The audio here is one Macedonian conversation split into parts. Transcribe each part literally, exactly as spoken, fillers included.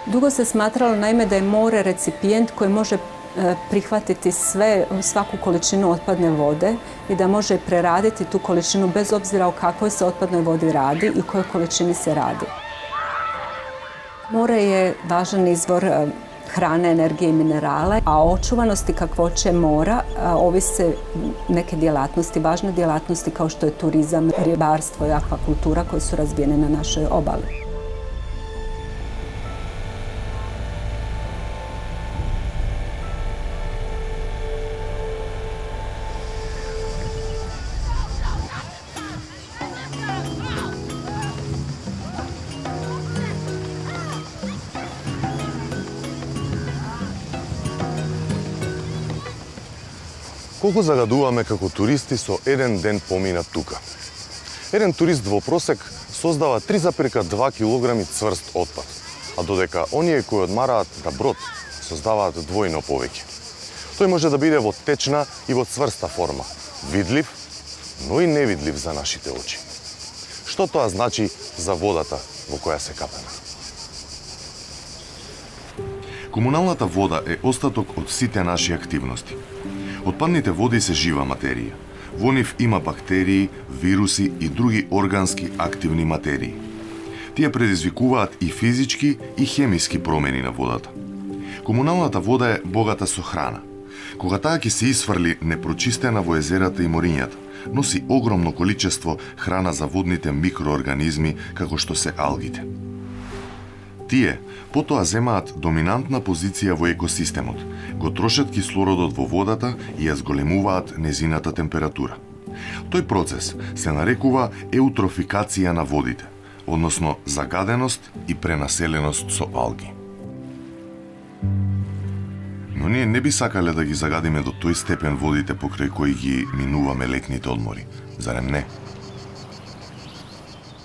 Dugo se smatralo naime da je more recipijent koji može prihvatiti sve, svaku količinu otpadne vode i da može preraditi tu količinu bez obzira o kakvoj se otpadnoj vodi radi i o kojoj količini se radi. More je važan izvor hrane, energije i minerala, a o očuvanosti kakvoće mora ovise neke djelatnosti, važne djelatnosti kao što je turizam, ribarstvo i akvakultura koje su razvijene na našoj obali. Колку загадуваме како туристи со еден ден поминат тука? Еден турист во просек создава три запирка два килограми цврст отпад, а додека оние кои одмараат на брод создаваат двојно повеќе. Тој може да биде во течна и во цврста форма, видлив, но и невидлив за нашите очи. Што тоа значи за водата во која се капеме? Комуналната вода е остаток од сите наши активности. Отпадните води се жива материја. Во нив има бактерии, вируси и други органски активни материи. Тие предизвикуваат и физички и хемиски промени на водата. Комуналната вода е богата со храна. Кога таа ќе се исфрли непрочистена во езерата и морињата, носи огромно количество храна за водните микроорганизми како што се алгите. Тие потоа земаат доминантна позиција во екосистемот, го трошат кислородот во водата и ја зголемуваат незината температура. Тој процес се нарекува еутрофикација на водите, односно загаденост и пренаселеност со алги. Но ние не би сакале да ги загадиме до тој степен водите покрај кои ги минуваме летните одмори, зарем не?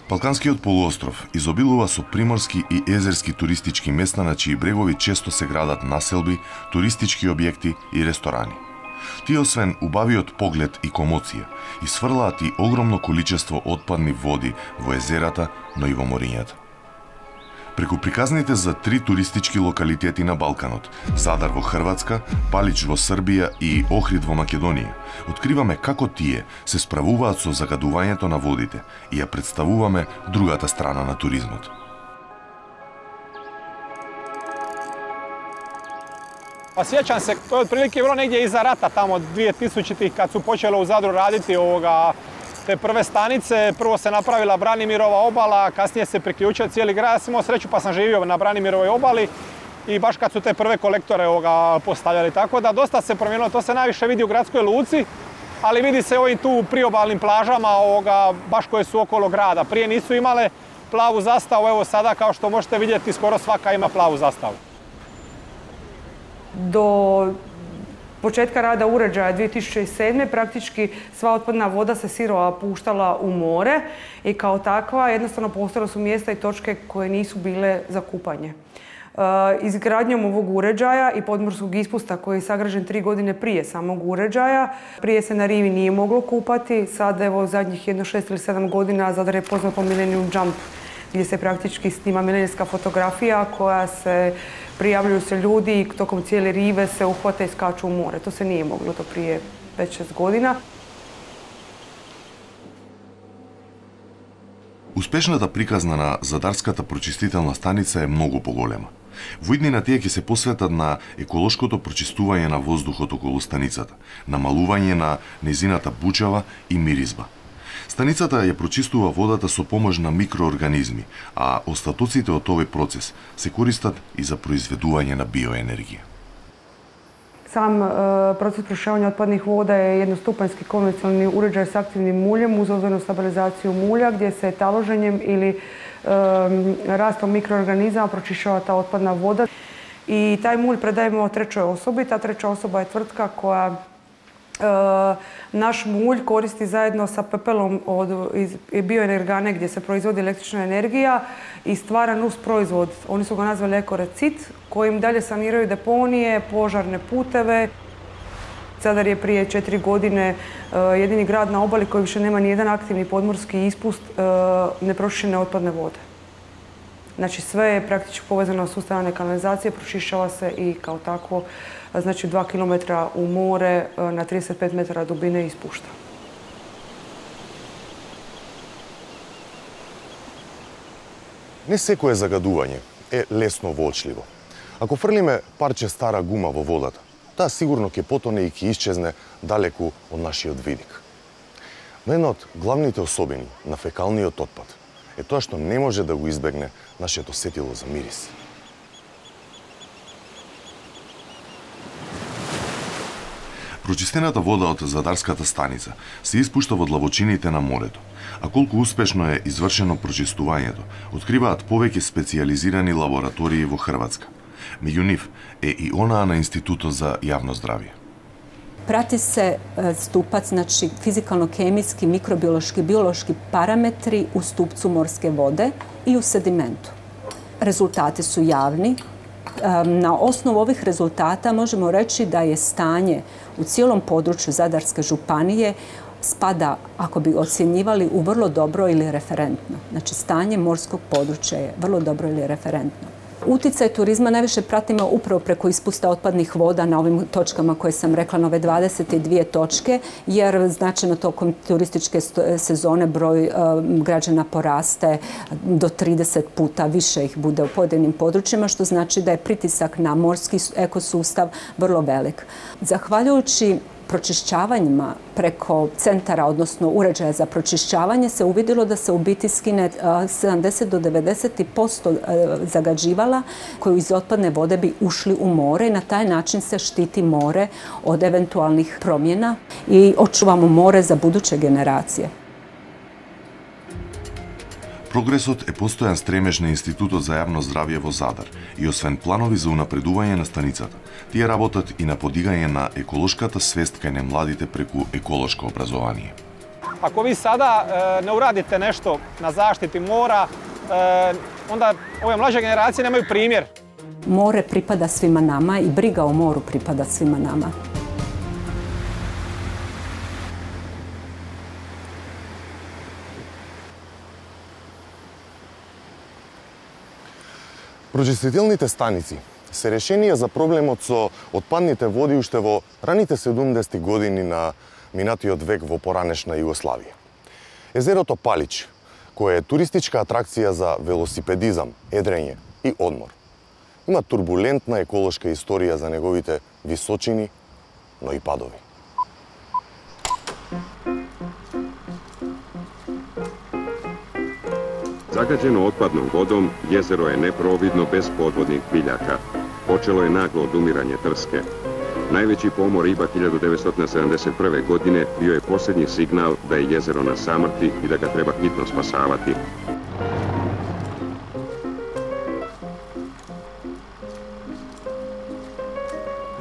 Балканскиот полуостров изобилува со приморски и езерски туристички места на чии брегови често се градат населби, туристички објекти и ресторани. Тие освен убавиот поглед и комоција, исфрлаат и огромно количество отпадни води во езерата, но и во морињата. Преку приказните за три туристички локалитети на Балканот, Задар во Хрватска, Палич во Србија и Охрид во Македонија, откриваме како тие се справуваат со загадувањето на водите и ја представуваме другата страна на туризмот. Pa sjećam se, to je otprilike bilo negdje iza rata, tamo dvije tisućitih kad su počele u Zadru raditi ovoga, te prve stanice. Prvo se napravila Branimirova obala, kasnije se priključio cijeli grad. Ja sam imao sreću pa sam živio na Branimirovoj obali i baš kad su te prve kolektore ovoga postavljali. Tako da dosta se promijenilo, to se najviše vidi u gradskoj luci, ali vidi se ovim tu priobalnim plažama ovoga, baš koje su okolo grada. Prije nisu imale plavu zastavu, evo sada kao što možete vidjeti skoro svaka ima plavu zastavu. Do početka rada uređaja dvije tisuće sedme praktički sva otpadna voda se sirova puštala u more i kao takva jednostavno postojala su mjesta i točke koje nisu bile za kupanje. Izgradnjom ovog uređaja i podmorskog ispusta koji je sagrađen tri godine prije samog uređaja, prije se na rivi nije moglo kupati, sad evo zadnjih jedno šest ili sedam godina Zadar je poznat po Millennium Jump, gdje se praktički snima milenijska fotografija koja se prijavljuju se ljudi i tokom cijele rive se uhvate i skaču u more. To se nije moglo to prije pet šest godina. Успешната приказна на Задарската прочистителна станица е многу поголема. Во иднина тие ќе се посветат на еколошкото прочистување на воздухот околу станицата, намалување на незината бучава и миризба. Станицата ја прочистува водата со помош на микроорганизми, а остатоците од овој процес се користат и за произведување на биоенергија. Sam proces pročišćavanja otpadnih voda je jednostupanjski konvencionalni uređaj s aktivnim muljem uz ozonu stabilizaciju mulja gdje se taloženjem ili rastom mikroorganizama pročišćava ta otpadna voda. I taj mulj predajemo trećoj osobi. Ta treća osoba je tvrtka koja naš mulj koristi zajedno sa pepelom od bioenergane gdje se proizvodi električna energija i stvara nus proizvod. Oni su ga nazvali ekorecit, kojim dalje saniraju deponije, požarne puteve. Zadar je prije četiri godine jedini grad na obali koji više nema nijedan aktivni podmorski ispust nepročišćene otpadne vode. Znači sve je praktički povezano s ustavne kanalizacije, pročišćava se i kao takvo, znači dva kilometra u more na trideset pet metara dubine ispušta. Не секое загадување е лесно воочливо. Ако фрлиме парче стара гума во водата, таа сигурно ќе потоне и ќе исчезне далеку од нашиот видик. Но една од главните особини на фекалниот отпад е тоа што не може да го избегне нашето сетило за мирис. Прочистената вода од задарската станица се испушта во длабочините на морето, а колку успешно е извршено прочистувањето, откриваат повеќе специјализирани лаборатории во Хрватска. Меѓу нив е и онаа на Институтот за јавно здравје. Prati se stupac, znači fizikalno-kemijski, mikrobiološki, biološki parametri u stupcu morske vode i u sedimentu. Rezultati su javni. Na osnovu ovih rezultata možemo reći da je stanje u cijelom području Zadarske županije spada, ako bi ocjenjivali, u vrlo dobro ili referentno. Znači stanje morskog područja je vrlo dobro ili referentno. Uticaj turizma najviše pratimo upravo preko ispusta otpadnih voda na ovim točkama koje sam rekla, na ove dvadeset dvije točke, jer značajno tokom turističke sezone broj građana poraste do trideset puta, više ih bude u pojedinim područjima, što znači da je pritisak na morski ekosustav vrlo velik. Zahvaljujući pročišćavanjima preko centara, odnosno uređaja za pročišćavanje, se uvidjelo da se u biti skine sedamdeset do devedeset posto zagađivala koji iz otpadne vode bi ušli u more i na taj način se štiti more od eventualnih promjena i očuvamo more za buduće generacije. Прогресот е постојан стремеж на Институтот за јавно здравје во Задар и освен планови за унапредување на станицата, тие работат и на подигање на еколошката свест кај немладите преку еколошко образование. Ако ви сада е, не урадите нешто на заштити мора, е, онда ове млаđe генерације немају примjer. More pripada svima nama i briga o moru pripada svima nama. Прочистителните станици се решение за проблемот со отпадните води уште во раните седумдесети години на минатиот век во поранешна Југославија. Езерото Палич, кое е туристичка атракција за велосипедизам, едрење и одмор, има турбулентна еколошка историја за неговите височини, но и падови. Zagađeno otpadnom vodom, jezero je neprovvidno bez podvodnih biljaka. Počelo je naglo odumiranje trske. Najveći pomor riba hiljadu devetsto sedamdeset prve. godine bio je posljednji signal da je jezero na samrti i da ga treba hitno spasavati.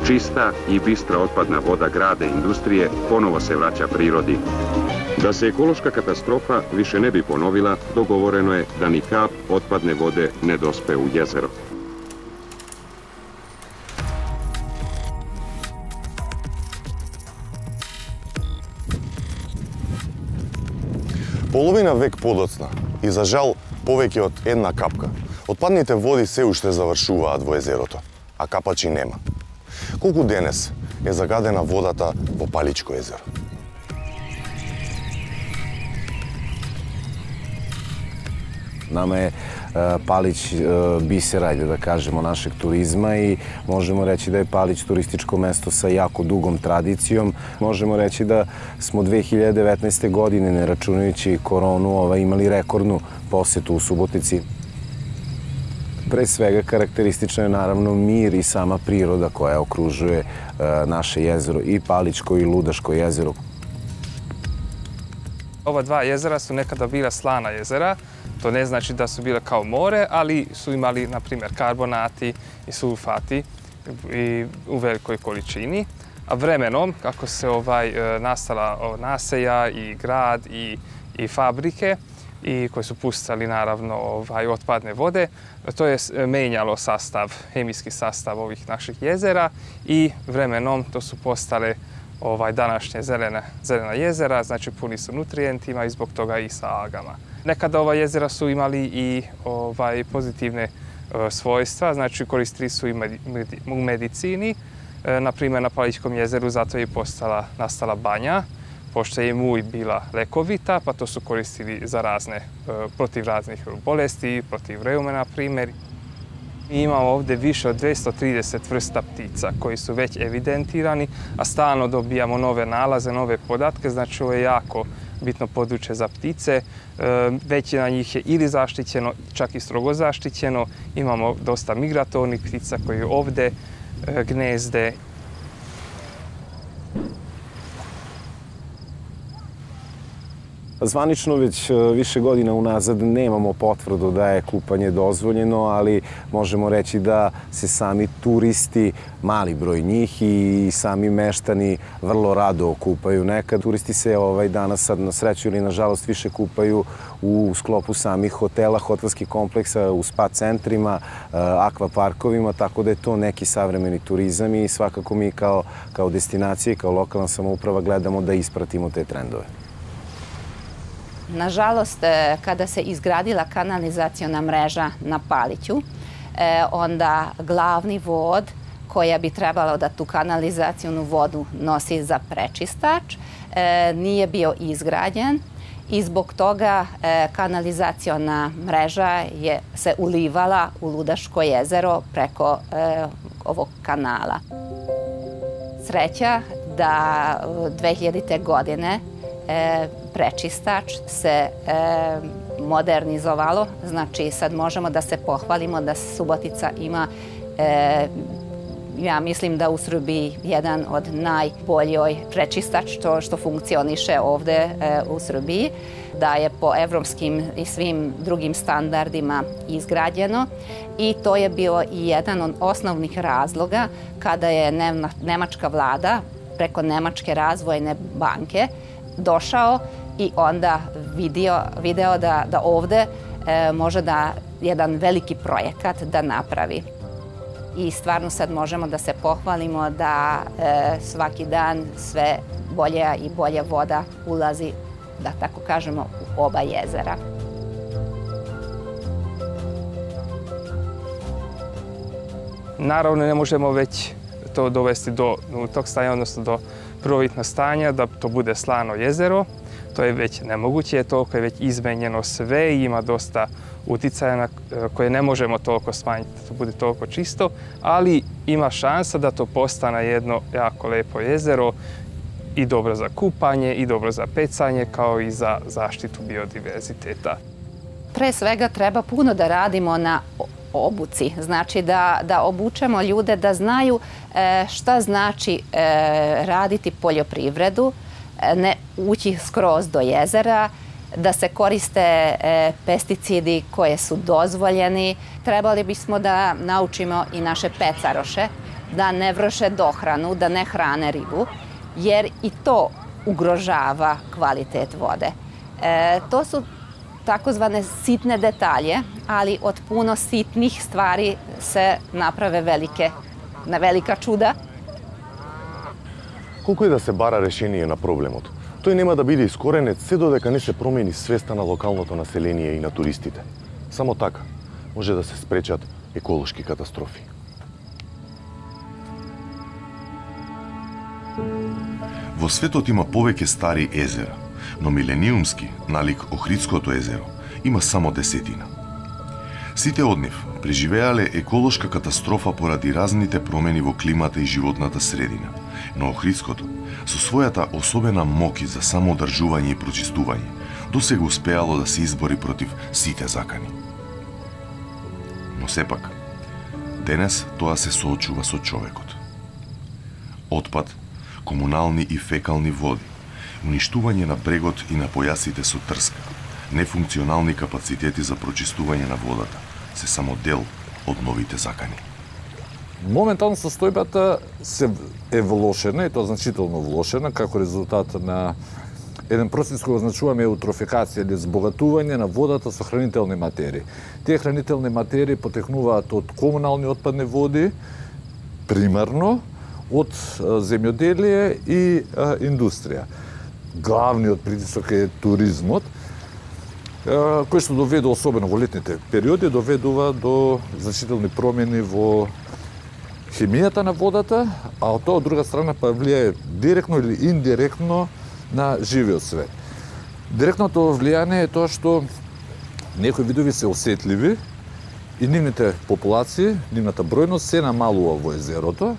Čista i bistra otpadna voda grada i industrije ponovo se vraća prirodi. Da se ekološka katastrofa više ne bi ponovila, dogovoreno je da ni kap otpadne vode ne dospe u jezero. Половина век подоцна и за жал повеќе од една капка, отпадните води се уште завршуваат во езерото, а капачи нема. Колку денес е загадена водата во Паличко езеро? Nama je Palić biser, ajde da kažemo, našeg turizma i možemo reći da je Palić turističko mesto sa jako dugom tradicijom. Možemo reći da smo dve hiljade devetnaeste. godine, ne računajući koronu, imali rekordnu posetu u Subotici. Pre svega karakteristično je naravno mir i sama priroda koja okružuje naše jezero, i Palićko i Ludaško jezero. Ova dva jezera su nekada bila slana jezera. To ne znači da su bile kao more, ali su imali, na primjer, karbonati i sulfati i u velikoj količini. A vremenom, kako se ovaj, nastala naselja i grad i, i fabrike, i koji su pustali naravno ovaj, otpadne vode, to je menjalo sastav, hemijski sastav ovih naših jezera i vremenom to su postale ovaj, današnje zelene, zelena jezera, znači puni su nutrijentima i zbog toga i sa algama. Nekada ova jezera su imali i ovaj, pozitivne e, svojstva, znači koristili su i medi, medi, u medicini. E, na primjer, na Palićkom jezeru zato je postala, nastala banja, pošto je mulj bila lekovita, pa to su koristili za razne, e, protiv raznih bolesti, protiv reume, na primjer. Mi imamo ovdje više od dvjesto trideset vrsta ptica koji su već evidentirani, a stalno dobijamo nove nalaze, nove podatke, znači ovo je jako bitno područje za ptice. Većina njih je ili zaštićeno, čak i strogo zaštićeno. Imamo dosta migratornih ptica koji ovdje gnezde. Zvanično već više godina unazad nemamo potvrdu da je kupanje dozvoljeno, ali možemo reći da se sami turisti, mali broj njih i sami meštani vrlo rado kupaju. Nekad turisti se ovaj danas sad na sreću ili nažalost više kupaju u sklopu samih hotela, hotelskih kompleksa, u spa centrima, akvaparkovima, tako da je to neki savremeni turizam i svakako mi kao, kao destinacija i kao lokalna samouprava gledamo da ispratimo te trendove. Nažalost, kada se izgradila kanalizaciona mreža na Paliću, onda glavni vod koja bi trebalo da tu kanalizacionu vodu nosi za prečistač nije bio izgrađen i zbog toga kanalizaciona mreža je se ulivala u Ludaško jezero preko ovog kanala. Sreća da dve hiljadite. godine prečistač se modernizovalo, znači sad možemo da se pohvalimo da Subotica ima, ja mislim da u Srbiji jedan od najboljoj prečistač što, što funkcioniše ovde u Srbiji, da je po evropskim i svim drugim standardima izgrađeno i to je bio i jedan od osnovnih razloga kada je nemačka vlada preko Nemačke razvojne banke došao i onda vidio, video da, da ovde e, može da jedan veliki projekat da napravi. I stvarno sad možemo da se pohvalimo da e, svaki dan sve bolja i bolja voda ulazi, da tako kažemo, u oba jezera. Naravno, ne možemo već to dovesti do tog stanja, odnosno do prvobitnog stanja, da to bude slano jezero. To je već nemoguće, toliko je već izmenjeno sve i ima dosta uticaja na koje ne možemo toliko smanjiti da to bude toliko čisto, ali ima šansa da to postane jedno jako lepo jezero i dobro za kupanje i dobro za pecanje, kao i za zaštitu biodiverziteta. Pre svega treba puno da radimo na obuci, znači da, da obučemo ljude da znaju e, šta znači e, raditi poljoprivredu, ne ući skroz do jezera, da se koriste e, pesticidi koje su dozvoljeni. Trebali bismo da naučimo i naše pecaroše da ne vrše dohranu, da ne hrane ribu, jer i to ugrožava kvalitet vode. E, to su takozvane sitne detalje, ali od puno sitnih stvari se naprave velike, na velika čуда. Колку и да се бара решение на проблемот, тој нема да биде искоренет се додека не се промени свеста на локалното население и на туристите. Само така може да се спречат еколошки катастрофи. Во светот има повеќе стари езера, но милениумски, налик Охридското езеро, има само десетина. Сите од нив преживеале еколошка катастрофа поради разните промени во климата и животната средина, но Охридското, со својата особена моќ за самоодржување и прочистување, досега успеало да се избори против сите закани. Но сепак, денес тоа се соочува со човекот. Отпад, комунални и фекални води, уништување на брегот и на појасите со трска, нефункционални капацитети за прочистување на водата се само дел од новите закани. Моментално состојбата се е влошена, и тоа значително влошена, како резултат на еден процес кој означуваме еутрофикација или збогатување на водата со хранителни материи. Тие хранителни материи потекнуваат од комунални отпадни води, примарно, од земјоделие и а, индустрија. Главниот притисок е туризмот. кој што доведе, особено во летните периоди, доведува до значителни промени во хемијата на водата, а од тоа од друга страна па влијае директно или индиректно на живиот свет. Директното влијание е тоа што некои видови се осетливи и нивните популации, нивната бројност се намалува во езерото,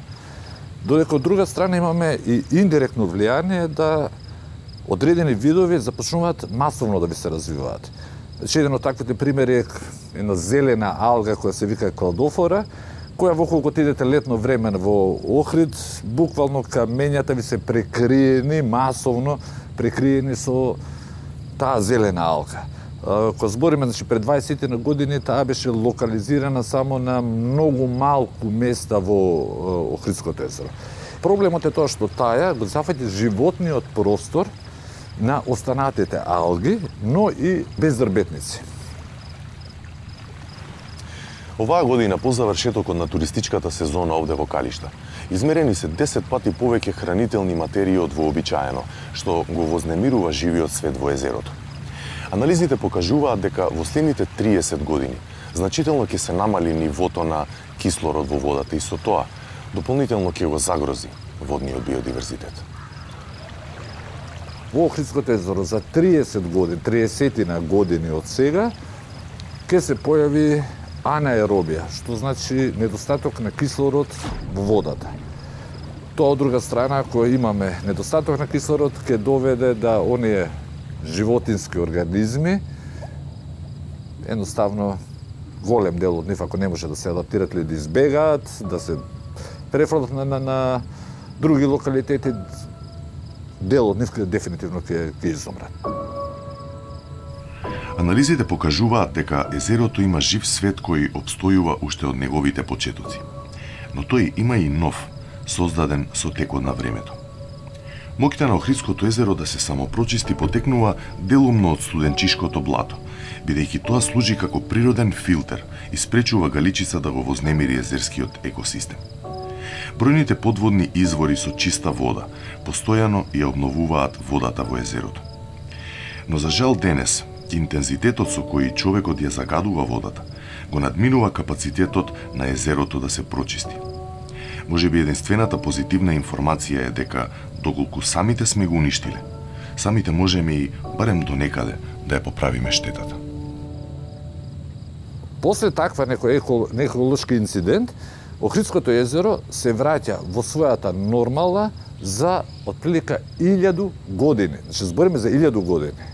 додека од друга страна имаме и индиректно влијание да одредени видови започнуваат масовно да ви се развиваат. Значи, еден од таквите примери е една зелена алга која се вика кладофора, која во колку идете летно време во Охрид, буквално камењата ви се прекриени, масовно прекриени со таа зелена алга. Кога збориме, значи, пред дваесет години, таа беше локализирана само на многу малку места во Охридското езеро. Проблемот е тоа што таа го зафаќа животниот простор на останатите алги, но и безрбетници. Оваа година, по завршетокот на туристичката сезона овде во Калишта, измерени се десет пати повеќе хранителни материи од вообичаено, што го вознемирува живиот свет во езерото. Анализите покажуваат дека во следните триесет години значително ќе се намали нивото на кислород во водата и со тоа дополнително ќе го загрози водниот биодиверзитет. Во Охридското езеро за триесет години, триесет години од сега, ќе се појави анаеробија, што значи недостаток на кислород во водата. Тоа од друга страна, ако имаме недостаток на кислород, ќе доведе да оние животински организми, едноставно голем дел од нив, ако не може да се адаптират или да избегаат, да се префрлат на, на, на други локалитети, дел од нив дефинитивно ќе изумрат. Анализите покажуваат дека езерото има жив свет кој обстојува уште од неговите почетоци. Но тој има и нов, создаден со текот на времето. Моќта на Охридското езеро да се самопрочисти потекнува делумно од студенчишкото блато, бидејќи тоа служи како природен филтер и спречува галичица да го вознемири езерскиот екосистем. Бројните подводни извори со чиста вода постојано ја обновуваат водата во езерото. Но за жал денес, интензитетот со кој човекот ја загадува водата го надминува капацитетот на езерото да се прочисти. Можеби единствената позитивна информација е дека, доколку самите сме го уништиле, самите можеме и барем до некаде да ја поправиме штетата. После таква некој еколошки инцидент, Охридското езеро се враќа во својата нормала за отприлика илјаду години. Значи, збориме за илјаду години.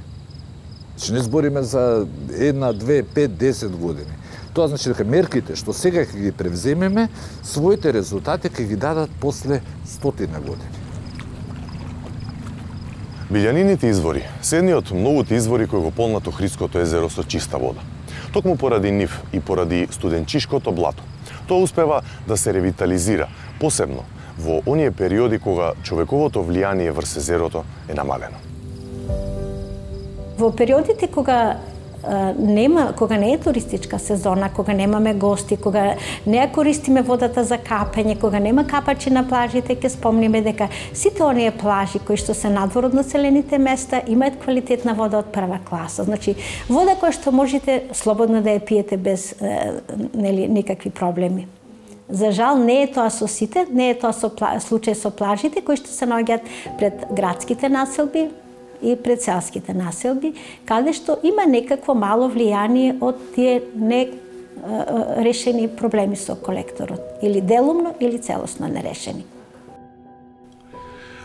Значи, не збориме за една, две, пет, десет години. Тоа значи дека мерките што сега ќе ги превземеме, своите резултати ќе ги дадат после стотина години. Билјанините извори се едни од многуте извори кои го полнат Охридското езеро со чиста вода. Токму поради нив и поради студенчишкото блато, тоа успева да се ревитализира, посебно во оние периоди кога човековото влијание врз езерото е намалено. Во периодите кога нема, кога не е туристичка сезона, кога немаме гости, кога не ја користиме водата за капање, кога нема капачи на плажите, ќе спомниме дека сите оние плажи кои што се надвор од населените места имаат квалитетна вода од прва класа. Значи, вода која што можете слободно да ја пиете без нели никакви проблеми. За жал не е тоа со сите, не е тоа со случај со плажите кои што се наоѓаат пред градските населби и пред селските населби, каде што има некакво мало влијание од тие не решени проблеми со колекторот, или делумно, или целосно нерешени.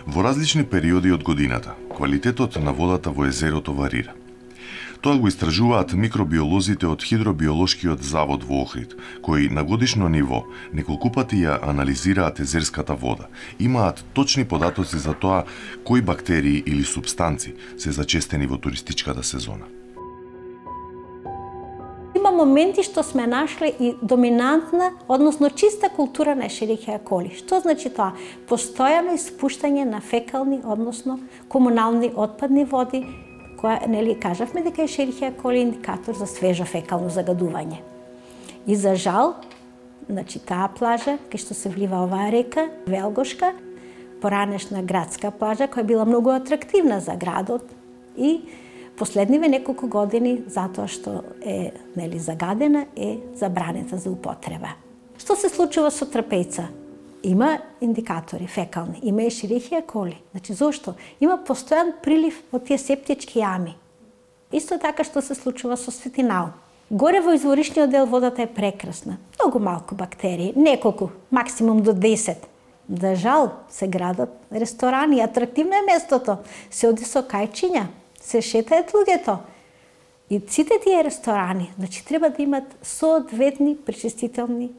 Во различни периоди од годината, квалитетот на водата во езерото варира. Тоа го истражуваат микробиолозите од Хидробиолошкиот завод во Охрид, кои на годишно ниво неколку пати ја анализираат езерската вода. Имаат точни податоци за тоа кои бактерии или субстанци се зачестени во туристичката сезона. Има моменти што сме нашли и доминантна, односно чиста култура на Ешерихија коли. Што значи тоа? Постојано испуштање на фекални, односно комунални отпадни води, која, нели, кажавме дека Ешерихија коли е индикатор за свежо фекално загадување. И за жал, значи таа плажа, кај што се влива оваа река, Велгошка, поранешна градска плажа, која била многу атрактивна за градот и последниве неколку години, затоа што е нели загадена, е забранета за употреба. Што се случува со трапејца? Има индикатори фекални, има и шерихија коли. Значи, зошто? Има постојан прилив од тие септички јами. Исто така што се случува со Светинал. Горе во изворишниот дел водата е прекрасна. Многу малку бактерии, неколку, максимум до десет. За жал, се градат ресторани, атрактивно е местото. Се оди со кајчиња, се шетаат луѓето. И сите тие ресторани, значи, треба да имат соодветни пречистителни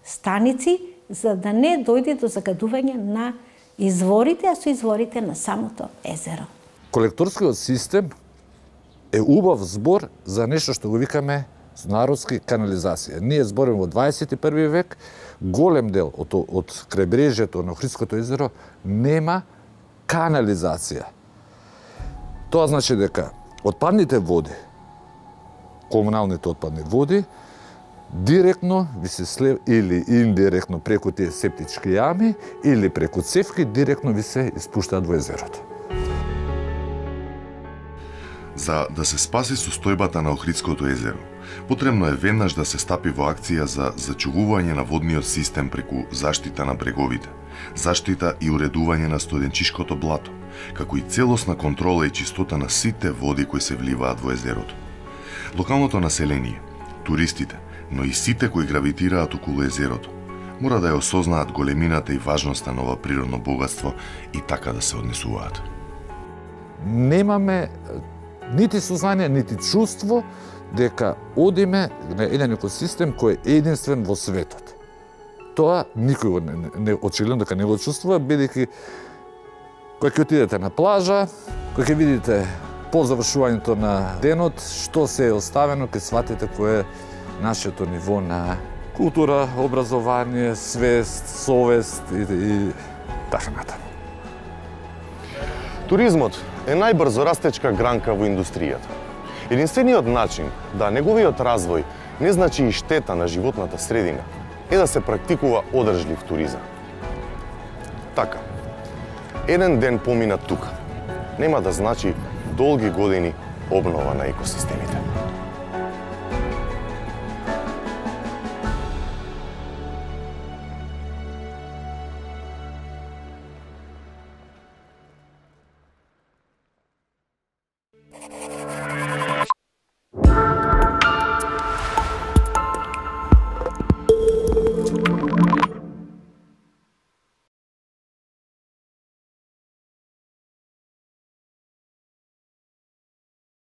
станици, за да не дојде до загадување на изворите, а со изворите на самото езеро. Колекторскиот систем е убав збор за нешто што го викаме народски канализација. Ние збориме во дваесет и први век, голем дел од, од крајбрежјето на Охридското езеро нема канализација. Тоа значи дека отпадните води, комуналните отпадни води, директно ви се слев или индиректно преку тие септички јами или преку цевки директно ви се испуштаат во езерото. За да се спаси состојбата на Охридското езеро, потребно е веднаш да се стапи во акција за зачувување на водниот систем преку заштита на бреговите, заштита и уредување на студенчишкото блато, како и целосна контрола и чистота на сите води кои се вливаат во езерото. Локалното население, туристите, но и сите кои гравитираат околу езерото, мора да ја осознаат големината и важноста на ова природно богатство и така да се однесуваат. Немаме нити сознание, нити чувство дека одиме на еден екосистем кој е единствен во светот. Тоа никој го не, не очигледно дека не го чувствува, бидејќи кога ќе отидете на плажа, кога ќе видите по завршувањето на денот што се е оставено, ќе сватите кој е нашето ниво на култура, образование, свест, совест и, и така натаму. Туризмот е најбрзо растечка гранка во индустријата. Единствениот начин да неговиот развој не значи и штета на животната средина е да се практикува одржлив туризам. Така, еден ден помина тука нема да значи долги години обнова на екосистемите.